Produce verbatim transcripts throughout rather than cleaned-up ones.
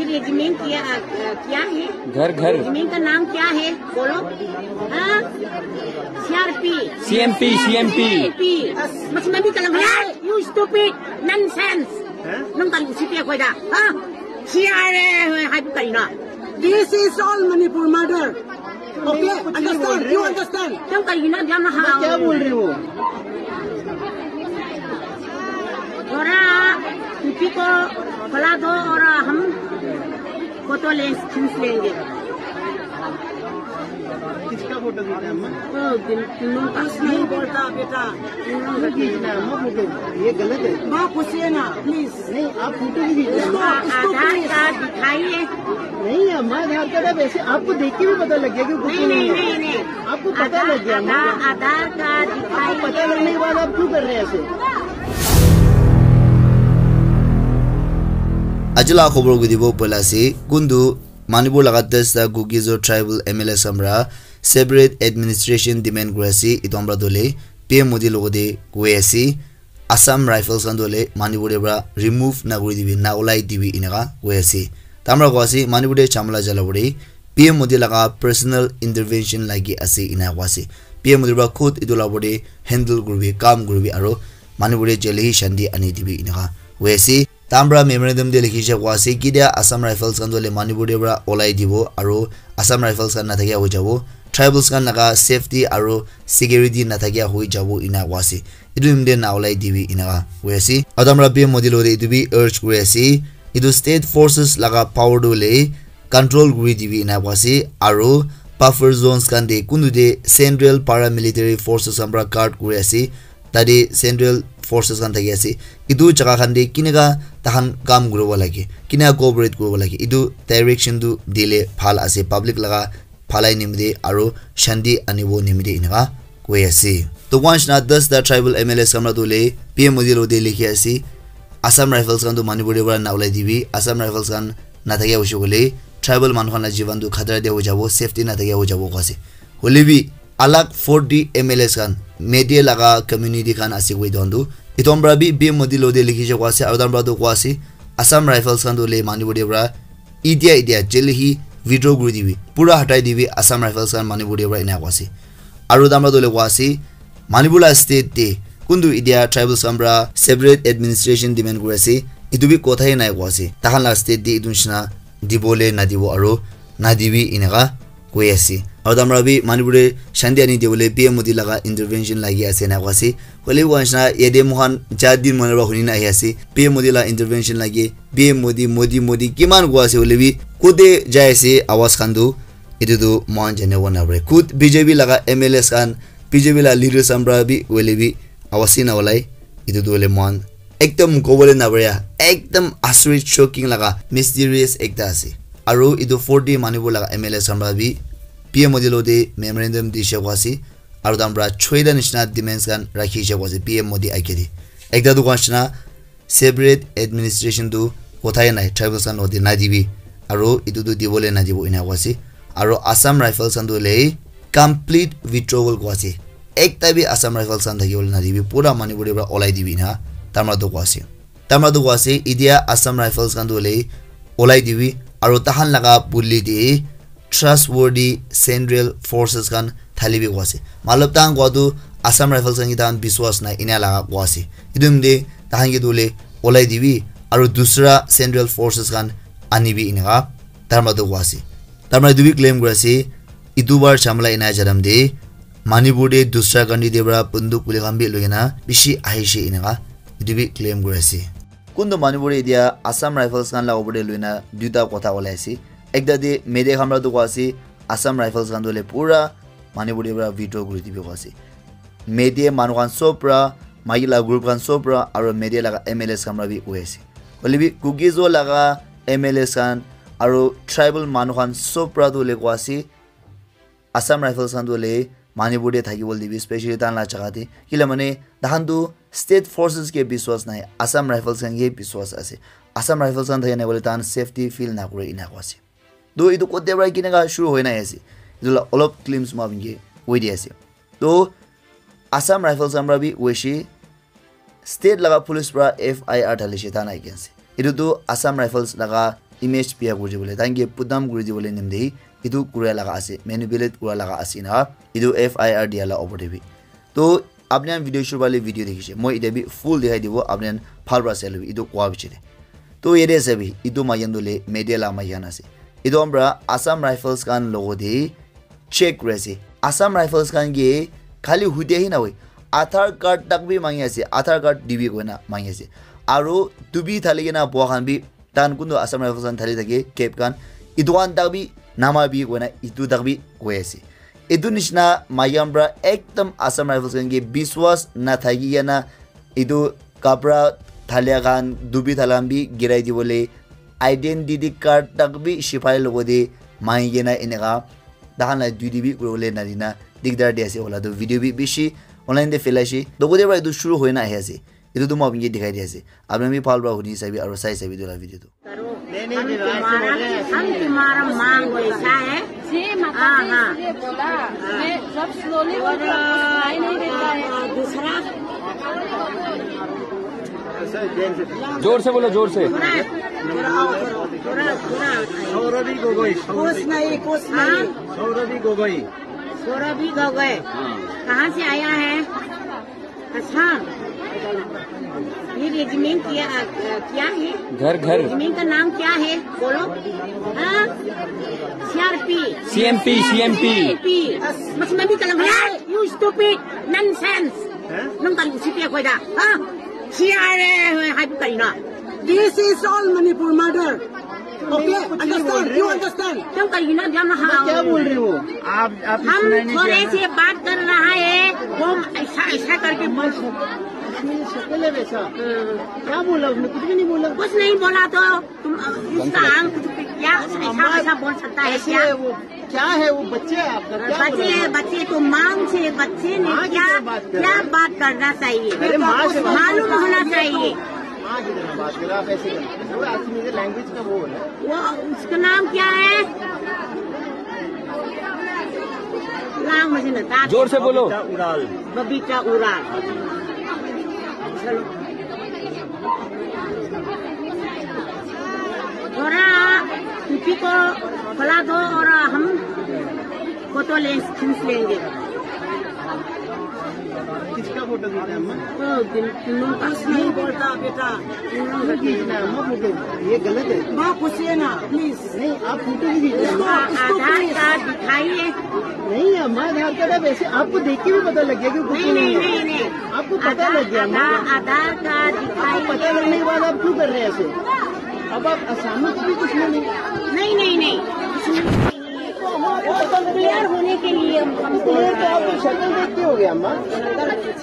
ये जमीन किया, किया है? घर, घर। जमीन का नाम क्या है? बोलो। हाँ? सीआरपी। सीएमपी, सीएमपी। सीएमपी। बस मैं भी चला गया। You stupid nonsense. Nung kan sipi ko da. Ha? Siare hai bu kaina. This is all Manipur murder. Okay? Understand? You understand? Nung kaina jana ha. क्या बोल रहे हो? थोड़ा किसी को फैला दो और हम फोटो ले, खींच लेंगे। किसका फोटो खींचना है अम्मा? तो दिन, तीनों का। कुछ नहीं बोलता बेटा। क्यों खींचना है अम्मा फोटो? ये गलत है। माँ पूछिए ना, प्लीज। नहीं, आप फोटो भी खींचना है। इसको, इसको आधार कार्ड दिखाइए। नहीं अम्मा, आधार कार्ड है, वैसे आपको देख के भी पता लग गया कि कुछ नहीं, नहीं, नहीं, नहीं, नहीं। आपको पता लग गया ना? आधार, आधार कार्ड दिखाइए। आपको पता लगने के बाद आप क्यों कर रहे हैं ऐसे? Aji la khobor gudibo poila ase, kuntu Manipur laga dasta Kuki-Zo tribal M L A samra separate administration demand kuri ase, etu amra dole P M Modi logote koi ase, Assam Rifles khan tu hoile Manipur te para remove na kuri dibi, na ulai dibi eneka koi ase. Tamra koi ase Manipur te chamala jala pore P M Modi laga personal intervention lagi ase eneka koi ase. P M Modi para khud etu la opor te handle kuribi, kam kuribi aro Manipur te jaldi hi shanti ani dibi eneka koi ase. Tamra memorandum te likhi se koi ase kitia Assam Rifles khan tu hoile Manipur te para ulai dibo aro Assam Rifles khan na thakia hoi jabo, tribals khan laga safety aro security na thakia hoi jabo eneka koi ase. Etu nimite na ulai dibi eneka koi ase. Aru tamra P M Modi logote etu bi urge kuri ase. Etu state forces laga power tu hoile control kuri dibi eneka koi ase. Aru buffer zones khan te kuntu te central paramilitary forces khan para guard kuri ase. Tate central forces khan thaki ase. Etu jaga khan te kineka tahan kam kuribo lage, kineka cooperate kuribo lage. Etu direction tu dile bhal ase. Public laga bhalai nimite aro shanti anibo nimite eneka koi ase. To koi nishina dasta tribal M L As khan para tu hoile P M Modi logote likhi ase, Assam Rifles khan tu Manipur te para na ulai dibi, Assam Rifles khan na thakia hoise koile tribal manu khan la jiban tu khatara te hoi jabo, safety na thakia hoi jabo koi ase. Hoile bi alag forty M L As khan, media laga community khan ase koi etu khan tu, etu khan para bi P M Modi logote likhi se koi ase, aro etu khan para tu koi ase, Assam Rifles khan tu hoile Manipur te para Itia, itia, jaldi hi withdraw kuri dibi. Pura hatai dibi Assam Rifles khan Manipur te para eneka koi ase. Aru tamra tu hoile koi ase, Manipur la state te kuntu itia tribals khan para separate administration demand kuri ase. Etu bi kotha he nai koi ase. Tahan la state te etu nishina dibole nadibo aru nadibi eneka koi ase. Aru tamra bi Manipur te shanti ani dibole P M Modi laga intervention lagi ase eneka koi ase. Hoile bi koi nishina yate moikhan jar din manu para huni na ahi ase. P M Modi la intervention lagi P M Modi, Modi, Modi, kiman koi ase hoile bi, kote jai ase, awaz khan tu, etu tu moikhan janibo napare. Khud B J P laga M L As khan, B J P la leaders khan para bi hoile bi, awaz hi na ulai, etu tu hoile moikhan ekdam kobole napare ya, ekdam asuri shocking laga, mysterious ekta ase. Aru etu forty Manipur laga M L As khan para bi, P M Modi logote memorandum dise koi ase, aru tahan para choita nishina demands khan rakhi se koi ase, P M Modi age te. Ekta tu koi nishina, separate administration tu kothai nai, tribals khan logote nadibi, aru etu tu dibole nadibo ena koi ase, aru Assam Rifles khan tu hoile complete withdrawal koi ase, ekta bi Assam Rifles khan thakibole nadibi, pura Manipur te para olai dibi ena tamra tu koi ase. Tamra tu koi ase, itia Assam Rifles khan tu hoile olai dibi, aru tahan laga buli te trustworthy central forces khan thali bi koi ase. Matlab tahan koi tu Assam Rifles khan ke tahan biswas nai ena laga koi ase. Etu nimite tahan ke tu hoile olai dibi aru dusra central forces khan anibi eneka tamra tu koi ase. Tamra etu bi claim kuri ase, etu bar chamla ena janam de Manipur de dusra country de para bunduk puli khan bi loi kena bishi ahishe eneka etu bi claim kuri ase. Kuntu Manipur te etia Assam Rifles khan la opor te loina duita kotha olai ase. Ekta te media khan para tu koi ase Assam Rifles khan tu hoile pura Manipur te para withdraw kuri dibi koi ase. Media manu khan sob para, maiki la group khan sob para, aru media laga M L As khan para bi koi ase. Hoile bi Kuki-Zo laga M L As khan aru tribal manu khan sob para tu hoile koi ase Assam Rifles khan tu hoile Manipur te thaki bole dibi, specially tahan la jaga te. Kila mane, tahan tu state forces ke biswas nai, Assam Rifles khan ke biswas ase. Assam Rifles khan thaki nai bole tahan safety feel na kore ena koi ase. To etu kote para kineka shuru hoi nai ase. Etu la olop glimpse ma binke hoi di ase. To Assam Rifles khan para bi hoise, state laga police para F I R thalishe tahan against. Etu tu Assam Rifles laga image biya kuri dibole, tahan ke put down kuri dibole nimite etu kura laga ase, manipulate kura laga ase na, etu F I R dia la opor te bi. To apni khan video shuru wale video dekhishe, moi etia bi full dikhai dibo, apni khan bhal para sai lobi etu koa bichare. To yate ase bi, etu maiki khan tu le media la maiki khan ase. Etu khan para Assam Rifles khan logo te check kuri ase. Assam Rifles khan ke khali hudia hi na hoi, Aadhaar card tak bi mangi ase, Aadhaar card dibi koina mangi ase. Aru tupi thali kena boha khan bi, tahan kuntu Assam Rifles khan thali thake, cap khan, etu khan tak bi nama bi koina, etu tak bi koi ase. Etu nishina maiki khan para ekdam Assam Rifles khan ke biswas nathaki kena etu kapra thalia khan, dubi thalia khan bi girai dibole, identity card tak bi sipai logo te mangi kena eneka tahan la duty bi kuribole nadina digdar di ase. Ola tu video bi bishi online te phelaishe. Logo te para etu shuru hoina ahi ase. Etu tu moi apni ke dikhai di ase. Apni bi bhal para huni sabi aru sai sabi etu la video tu. हम तुम्हारा, हम तुम्हारा मांग वैसा है. हाँ, हाँ. मैं जब slowly बोलती हूँ, आपको सुनाई नहीं देता है. दूसरा. जोर से बोलो, जोर से. थोड़ा, थोड़ा, थोड़ा. सौरभी गोगोई. कुछ नहीं, कुछ नहीं. सौरभी गोगोई. सौरभी गोगोई. कहाँ से आया है? अच्छा, ये रेजिमेंट क्या, क्या है? घर, घर। रेजिमेंट का नाम क्या है? बोलो। हाँ? सीआरपी। सीएमपी, सीएमपी। सीएमपी। बस मैं भी कलम, you stupid, nonsense। नंग कल उसी पे कोई दा, हाँ? सीआरए है, हाइप करीना। This is all Manipur murder. Okay, understand? You understand? क्यों करीना? जब मैं क्या बोल रही हूँ? आप, आप हम थोड़े से बात कर रहा है, वो ऐसा, ऐसा करके बोल। शक्ल है वैसा। क्या बोला उसने? कुछ भी नहीं बोला। कुछ नहीं बोला तो तुम इसका आंख कुछ क्या ऐसा, ऐसा बोल सकता है क्या? क्या है वो? बच्चे है आपका, क्या बोला? बच्चे है, बच्चे तो माँ से, बच्चे ने क्या, क्या बात करना चाहिए? अरे माँ से बात मालूम होना चाहिए। माँ की तरह बात करो, आप ऐसे करो। वो actually मुझे लैंग्वेज का वो है। वो उसका नाम क्या है? नाम मुझे नहीं पता। जोर से बोलो। बबीता उराल। बबीता उराल। चलो। थोड़ा टोपी को खोला दो और हम फोटो ले, खींच लेंगे। किसका फोटो खींचना है अम्मा? ओ, बिन-, बिन्नू का। कुछ नहीं बोलता बेटा। क्यों खींचना है अम्मा फोटो? ये गलत है। माँ, पूछिए ना, प्लीज। नहीं, आप फोटो भी खींचना है। इसको, इसको आधार कार्ड दिखाइए। नहीं अम्मा, आधार कार्ड, आप ऐसे, आपको देख के भी पता लग गया कि कुछ नहीं, नहीं, नहीं, नहीं। आपको पता लग गया अम्मा। आधार, आधार कार्ड दिखाइए। आपको पता लगने के बाद आप क्यों कर रहे हैं ऐसे? अब आप सामने से भी कुछ नहीं। नहीं, नहीं, नहीं। क्लियर होने के लिए हम, हम क्लियर तो आपको शक्ल देख के हो गया अम्मा।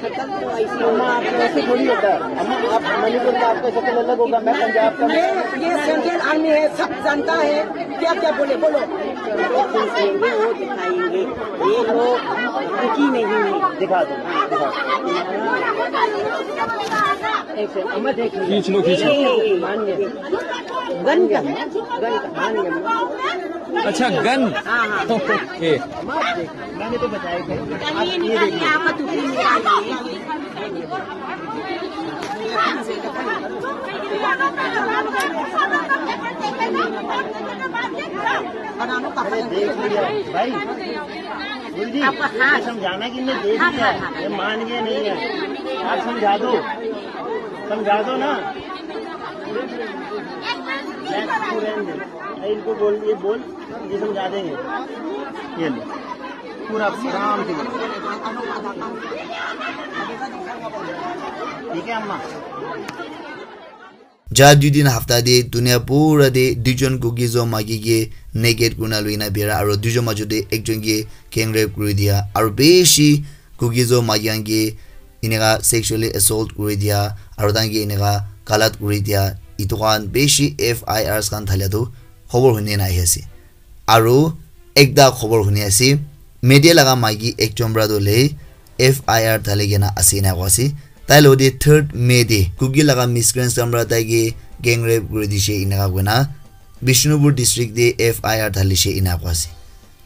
शक्ल तो ऐसी अम्मा, आपको ऐसे थोड़ी होता है। अम्मा, आप मणिपुर का, आपका शक्ल अलग होगा, मैं पंजाब का। मैं, ये सेंट्रल आर्मी है, सब जानता है। क्या क्या बोले, बोलो। वो दिखाएंगे, वो दिखाएंगे। ये लोग दुखी नहीं है। दिखा दो, दिखा दो। ऐसे, अम्मा देख लो। खींच लो, खींच लो। ये, ये, ये, ये। गन का, गन का, मान गया। अच्छा, गन। हाँ, हाँ। ओके। अम्मा आप देख लो। मैंने तो बताया था। चलिए, निकालिए, आप तो फिर निकालिए। अरे देख लिया भाई, गुरुजी, आपका हाथ। ये समझाना कि मैं देख लिया, ये मान गया नहीं है, आप समझा दो, समझा दो ना। इनको बोल, ये बोल, ये समझा देंगे। ये लो, पूरा आराम से बोलो। ठीक है अम्मा। Ja dui din hafta te dunia pura te duijon Kuki-Zo maiki ke naked kurina loina bera aro duijon majot te ekjon ke gang rape kuri dia aro bishi Kuki-Zo maiki khan ke eneka sexually assault kuri dia aro tahan ke eneka galat kuri dia, etu khan bishi F I Rs khan thalia tu khobor huni na ahi ase. Aro ekta khobor huni ase, media laga maiki ekjon para tu hoile F I R thali kena ase ena koa ase. Tai logte third May te Kuki laga miscreants khan para tai ke gang rape kuri dishe eneka koina Bishnupur district te F I R thalishe ena koa ase.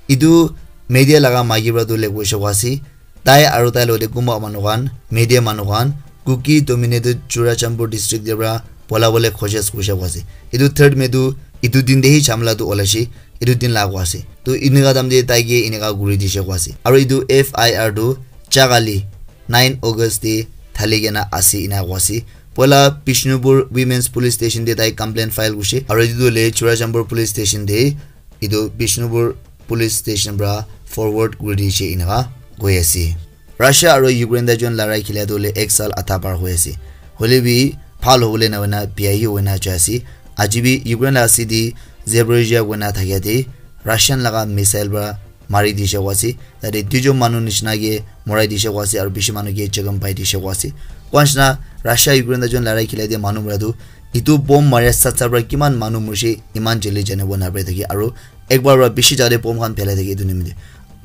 Etu media laga maiki para tu hoile koishe koa ase. Tai aro tai logte kunba manu khan, media manu khan, Kuki dominated Churachandpur district te para pola bole khojis kurishe koa ase. Etu third May tu Etu din te hi jhamla tu olaise, etu din la koa ase. To eneka time te tai ke eneka kuri dise koa ase. Aru etu F I R tu jagali nine August te thali kena ase ena koa ase. Poila Bishnupur Women's Police Station te tai complaint file kurise. Aru etu tu le Churachandpur Police Station te etu Bishnupur Police Station pra forward kuri dise eneka koi ase. Russia aru Ukraine tai jon larai khila tu le ek sal adha par hoi ase. Hole bi bhal hobole na hoina biya hi hoina jai ase. Aji bi Ukraine la city Zaporizhia koina thakia te Russian laga missile pra mari dise koa ase. Tate duijon manu nishina ke morai dise koa ase aru bishi manu ke jakham pai dise koa ase. Koa nishina Russia Ukraine tai jon larai khila te manu mara tu etu bomb mari sat sat pra kiman manu morise iman jali janibo napare thaki aru ekbar pra bishi jate bomb khan phelai thaki etu nimite.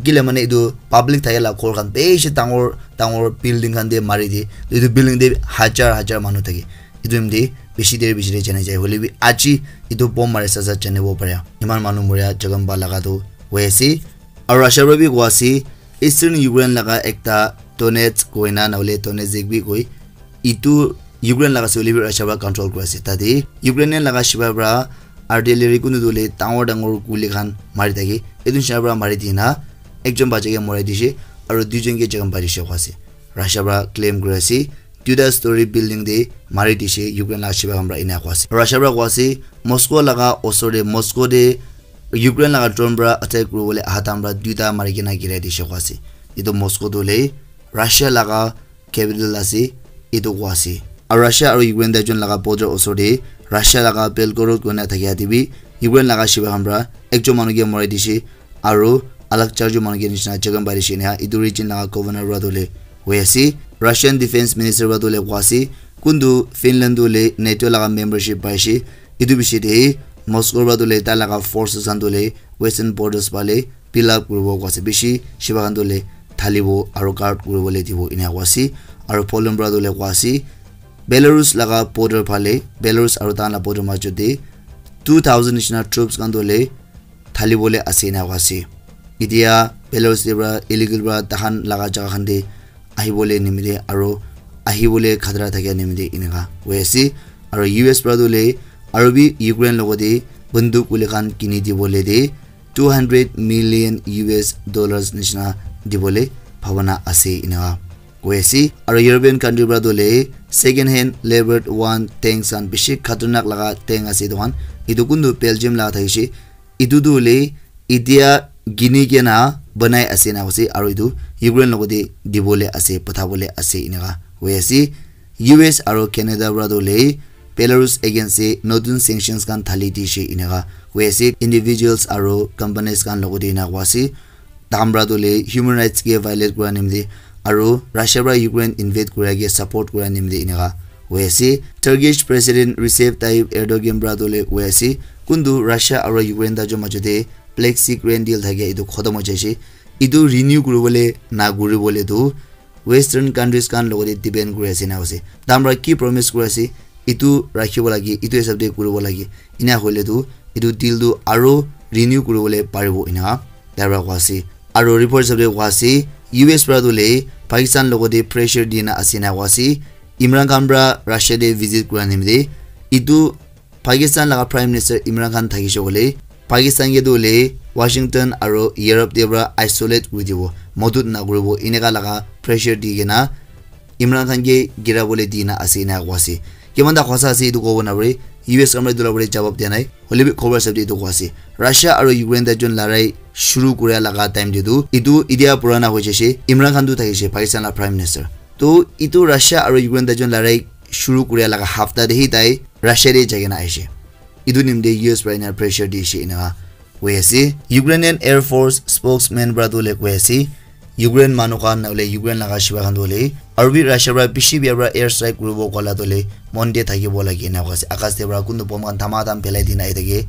Kile mane etu public thake la ghor khan bishi dangor dangor building khan te mari di. Etu building te hajar hajar manu thake. Etu nimite bishi der bishi der jana jai. Hole bi aji etu bomb mari sat sat janibo pare. Iman manu moria jakham pa laga tu hoi ase. Aru Russia para bi koa ase, Eastern Ukraine laga ekta Donetsk koina nahole Donetsk bi koi, etu Ukraine laga ase hoile bi Russia para control kuri ase. Tate Ukrainian laga shipai para artillery kunu tu hoile dangor dangor guli khan mari thake. Etu nishina para mari dina ekjon bacha ke morai dishe aru duijon ke jakham pai dishe koa ase. Russia para claim kuri ase. Duita story building te mari dishe Ukraine laga shipai khan para ena koa ase. Russia para koa ase Moscow laga osor te, Moscow te Ukraine laga drone para attack kuribole aha time para duita mari kena girai dishe koa ase. Etu Moscow tu hoile Russia laga capital ase, etu koa ase. Aru Russia aru Ukraine tai jon laga border osor te Russia laga Belgorod koina thakia te bi Ukraine laga shipai khan para ekjon manu ke morai dishe aru alag charjon manu ke nishina jakham pai dishe ena etu region laga governor para tu hoile hoi ase. Russian defense minister para tu hoile koa ase kuntu Finland tu hoile NATO laga membership paishe. Etu bishi te Moscow para tu hoile tai laga forces khan tu hoile western borders phale build up kuribo koa ase. Bishi shipai khan tu hoile thalibo aru guard kuribole dibo ena koa ase. Aru Poland para tu hoile koa ase Belarus laga border phale, Belarus aru tahan la border majot te two thousand nishina troops khan tu hoile thalibole ase ena koa ase. Etia Belarus te para illegal para tahan laga jaga khan te ahibole nimite aru ahibole khatara thakia nimite eneka hoi ase. Aru U S para tu hoile aru bi Ukraine logot te banduk guli khan kini dibole te two hundred million U S dollars nishina dibole bhabana ase eneka hoi ase. Aru European country para tu hoile second hand Leopard one tanks khan bishi khatarnak laga tank ase etu khan. Etu kuntu Belgium laga thakishe. Etu tu hoile etia gini kena banai ase ena koise aru etu Ukraine logot te dibole ase, pathabole ase eneka hoi ase. U S aru Canada para tu hoile Belarus against te notun sanctions khan thali dishe eneka hoi ase. Individuals aru companies khan logot te ena koa ase. Tahan para tu hoile human rights ke violate kura nimite aru Russia para Ukraine invade kura ke support kura nimite eneka hoi ase. Turkish President Recep Tayyip Erdogan para tu hoile hoi ase kuntu Russia aru Ukraine tai jon majot te Black Sea Grain Deal thakia etu khotom hoi jaise. Etu renew kuribole na kuribole tu Western countries khan logot te depend kuri ase ena koise. Tahan para ki promise kuri ase etu rakhibo lage, etu hisab te kuribo lage. Ena hoile tu etu deal tu aru renew kuribole paribo eneka tai para koa ase. Aru report hisab te koa ase U S para tu hoile Pakistan logot te pressure dina ase ena koa ase. Imran Khan para Russia te visit kura nimite etu Pakistan laga Prime Minister Imran Khan thakishe koile Pakistan ke tu hoile Washington aru Europe te para isolate kuri dibo, modot na kuribo eneka laga pressure di kena Imran Khan ke girabole dina ase ena koa ase. Kiman ta hosa ase etu kobo napare, U S khan para etu la upor te jawab dia nai, hole bi khobor hisab te etu koa ase. Russia aru Ukraine tai jon larai shuru kuria laga time te tu etu etia purana hoi jaise. Imran Khan tu thakishe Pakistan la Prime Minister, to etu Russia aru Ukraine tai jon larai shuru kuria laga hafta te hi tai Russia te jai kena ahishe. Etu nimite U S para ena pressure dishe eneka hoi ase. Ukrainian Air Force spokesman para tu hoile koi ase Ukraine manu khan nahole Ukraine laga shipai khan tu hoile aru bi Russia para bishi bia para air strike kuribo kola tu hoile mon te thakibo lage ena koi ase. Akas te para kuntu bomb khan dhama dham phelai dina ahi thake.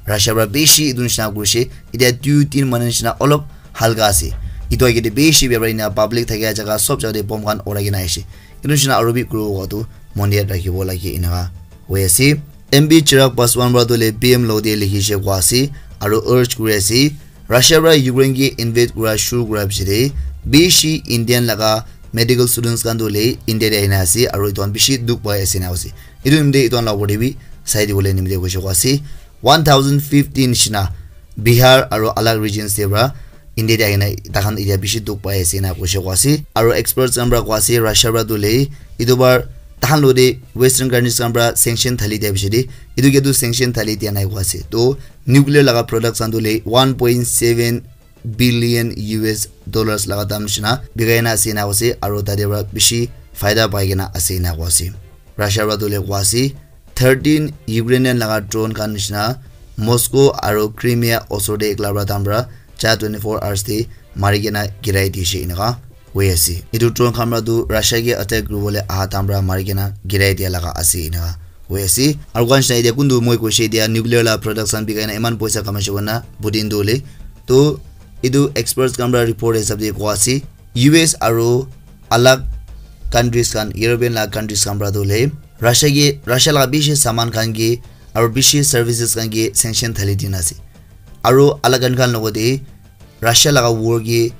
Russia para bishi etu nishina kurishe. Etia dui tin manu nishina olop halka ase. Etu agey te bishi bia para ena public thakia jaga sob jaga te bomb khan urai kena ahishe. Etu nishina aru bi kuribo kowa tu mon te rakhibo lage eneka hoi ase. M P Chirag Paswan para tu hoile P M logot te likhishe kowa ase aru urge kuri ase Russia para Ukraine ke invade kura shuru kura piche te bishi Indian laga medical students khan tu hoile India te ahina ase aru etu khan bishi dukh pai ase ena koise. Etu nimite etu khan la opor te bi sai dibole nimite koise kowa ase. one thousand fifteen nishina Bihar aro alag regions te pra India te ahina takhan etia bishi dukh pai ase ena koishe koa ase. Aro experts khan pra koa ase Russia pra tu le etu bar takhan lo de Western countries khan pra sanction thali dia bishi de etu ke tu sanction thali dia nai koa ase. To nuclear laga products khan tu le one point seven billion U S dollars laga dam nishina bikai na ase ena koa ase aro tate pra bishi faida pai kena ase ena koa ase. Russia pra tu le koa ase thirteen Ukrainian laga drone khan nishina Moscow aro Crimea osor te ekla pra tam pra cha twenty-four hours te mari kena girai dishe eneka hoi ase. Etu drone khan pra tu Russia ke attack kuribole aha tam pra mari kena girai dia laga ase eneka hoi ase. Aro khan nishina etia kuntu moi koishe etia nuclear la products khan bikai na eman poisa kamaishe koina Putin tu hoile. To etu experts khan pra report hisab te koa ase U S aro alag countries khan European la countries khan pra tu hoile Russia ke Russia la bishi saman khan ke aro bishi services khan ke sanction thali dina ase. Aro alag khan khan logote Russia laga war ke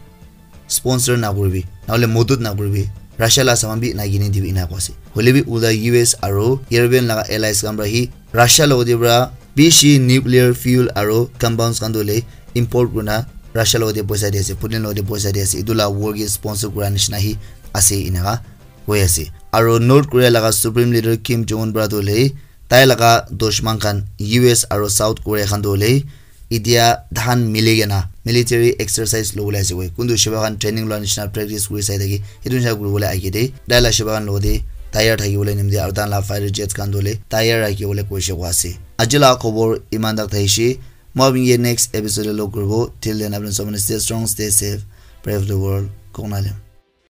sponsor na kuribi nahole modot na kuribi Russia la saman bi na kine dibi ena koa ase. Hoile bi ulta U S aro European laga allies khan pra hi Russia logote pra bishi nuclear fuel aro compounds khan tu hoile import kurina Russia logote poisa di ase Putin logote poisa di ase etu la war ke sponsor kura nishina hi ase eneka hoi ase. Aro North Korea laga Supreme Leader Kim Jong Un pra tu hoile tai laga dushman khan U S aro South Korea khan tu hoile etia tahan mili kena military exercise lobole ase koi kuntu shiba khan training loa nishina practice kuri sai thaki etu nishina kuribole age de tai la shiba khan logote tayar thakibole nimite aro tahan la fighter jets khan tu hoile tayar rakhibole koishe koa ase. Aji la khobor eman tak thaishe. Moi apni ke next episode te log kuribo. Till then, apni sob mane stay strong, stay safe, pray for the world. Kong na lem.